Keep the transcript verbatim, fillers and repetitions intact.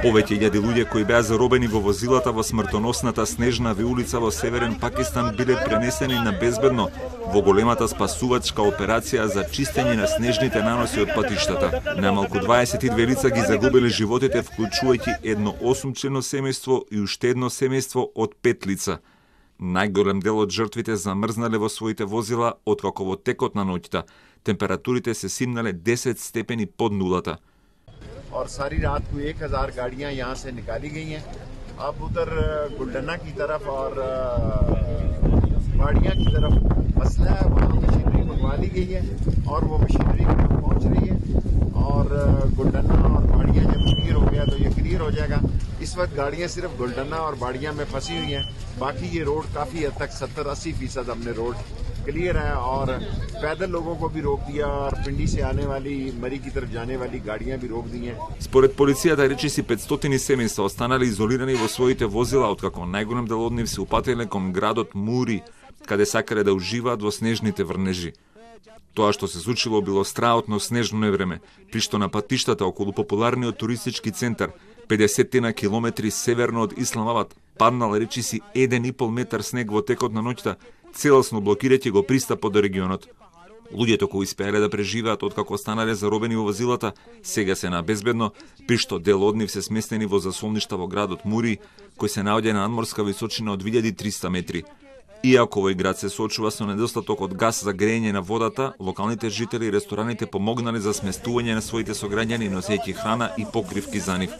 Повеќе илјади луѓе кои беа заробени во возилата во смртоносната снежна улица во северен Пакистан биле пренесени на безбедно во големата спасувачка операција за чистење на снежните наноси од патиштата. Најмалку дваесет и две лица ги загубиле животите, вклучувајќи едно осумчлено семејство и уште едно семејство од пет лица. Најголем дел од жртвите замрзнале во своите возила откако во текот на ноќта температурите се симнале десет степени под нулата. और सारी रात को एक हजार गाड़ियां यहाँ से निकाली गई हैं। अब उधर गुलडना की तरफ और बाड़ियां की तरफ मसला है, वहाँ मशीनरी मंगवा ली गई है और वो मशीनरी पहुँच रही है और गुलडना और बाड़ियां जब क्लियर हो गया तो ये क्लियर हो जाएगा। इस वक्त गाड़ियां सिर्फ गुलडना और बाड़ियां में फंसी हुई हैं, बाकी ये रोड काफ़ी हद तक सत्तर अस्सी फीसद हमने रोड क्लियर है और पैदल लोगों को भी रोक दिया और पिंडी से आने वाली मरी की तरफ जाने वाली गाड़ियां भी रोक दी हैं। Според полицијата речиси петстотини семејства останале изолирани во своите возила, откако најголем дел од нив се упателе кон градот Мури, каде сакале да уживаат во снежните врнежи. Тоа што се случило било страотно снежно невреме, при што на патиштата околу популарниот туристички центар педесет на километри северно од Исламабад паднал речиси еден и пол метар снег во текот на ноќта, целосно блокирајќи го пристапот до регионот. Луѓето кои успеале да преживеат откако останале заробени во возилата, сега се на безбедно, при што дел од нив се сместени во засолништа во градот Мури, кој се наоѓа на надморска височина од две илјади и триста метри. Иако овој град се соочува со недостаток од газ за грејење на водата, локалните жители и рестораните помогнале за сместување на своите сограѓани, носејќи храна и покривки за нив.